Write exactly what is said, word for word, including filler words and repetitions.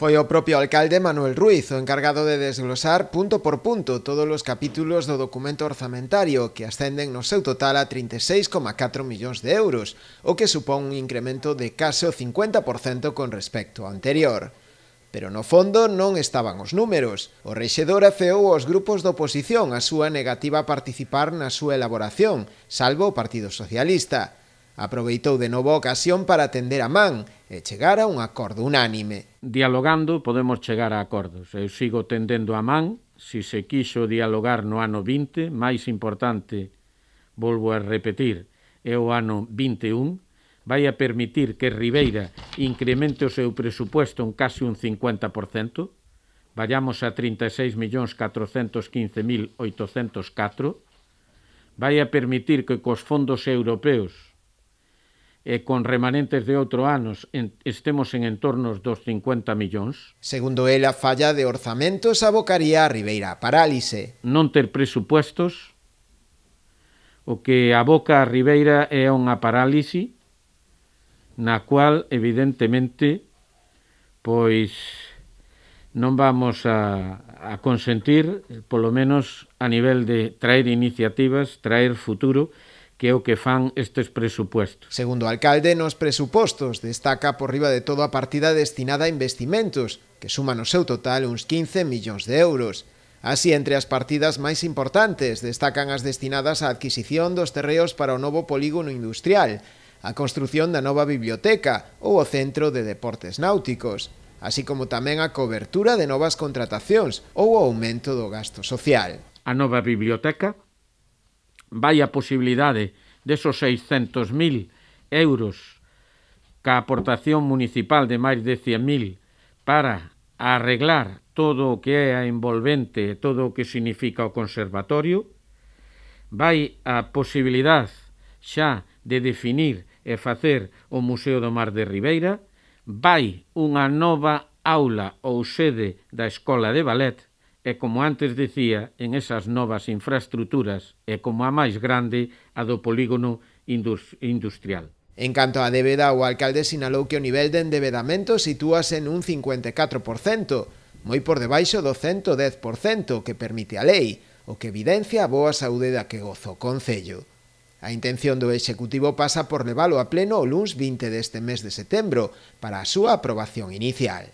Foi o propio alcalde Manuel Ruiz o encargado de desglosar punto por punto todos os capítulos do documento orzamentario que ascenden no seu total a trinta e seis coma catro millóns de euros, o que supón un incremento de case o cincuenta por cento con respecto ao anterior. Pero no fondo non estaban os números. O rexedor afeou aos grupos da oposición a súa negativa a participar na súa elaboración, salvo o Partido Socialista. Aproveitou de novo a ocasión para tender a man e chegar a un acordo unánime. Dialogando podemos chegar a acordos. Eu sigo tendendo a man, si se quixo dialogar no ano vinte, máis importante, volvo a repetir, é o ano vinte e un, vai a permitir que Ribeira incremente o seu presupuesto en case un cincuenta por cento, vayamos a trinta e seis millóns catrocentos quince mil oitocentos catro, vai a permitir que cos fondos europeos e con remanentes de outro anos estemos en entornos dos cincuenta millóns. Segundo el, a falla de orzamentos abocaría a Ribeira a parálise. Non ter presupuestos, o que aboca a Ribeira é unha parálise na cual, evidentemente, pois non vamos a, a consentir, polo menos a nivel de traer iniciativas, traer futuro, que é o que fan estes presupuestos. Segundo o alcalde, nos presupostos destaca por riba de todo a partida destinada a investimentos, que suman no seu total uns quince millóns de euros. Así, entre as partidas máis importantes, destacan as destinadas á adquisición dos terreos para o novo polígono industrial, a construción da nova biblioteca ou o centro de deportes náuticos, así como tamén a cobertura de novas contratacións ou o aumento do gasto social. A nova biblioteca vai a posibilidade desos seiscentos mil euros ca aportación municipal de máis de cen mil para arreglar todo o que é a envolvente, todo o que significa o conservatorio, vai a posibilidade xa de definir e facer o Museo do Mar de Ribeira, vai unha nova aula ou sede da Escola de Ballet, e como antes dicía, en esas novas infraestructuras e como a máis grande, a do polígono industrial. En canto á débeda, o alcalde sinalou que o nivel de endebedamento sitúase nun cincuenta e catro por cento, moi por debaixo do cento dez por cento que permite a lei, o que evidencia a boa saúde da que goza o concello. A intención do Executivo pasa por levalo a pleno o luns vinte deste mes de setembro para a súa aprobación inicial.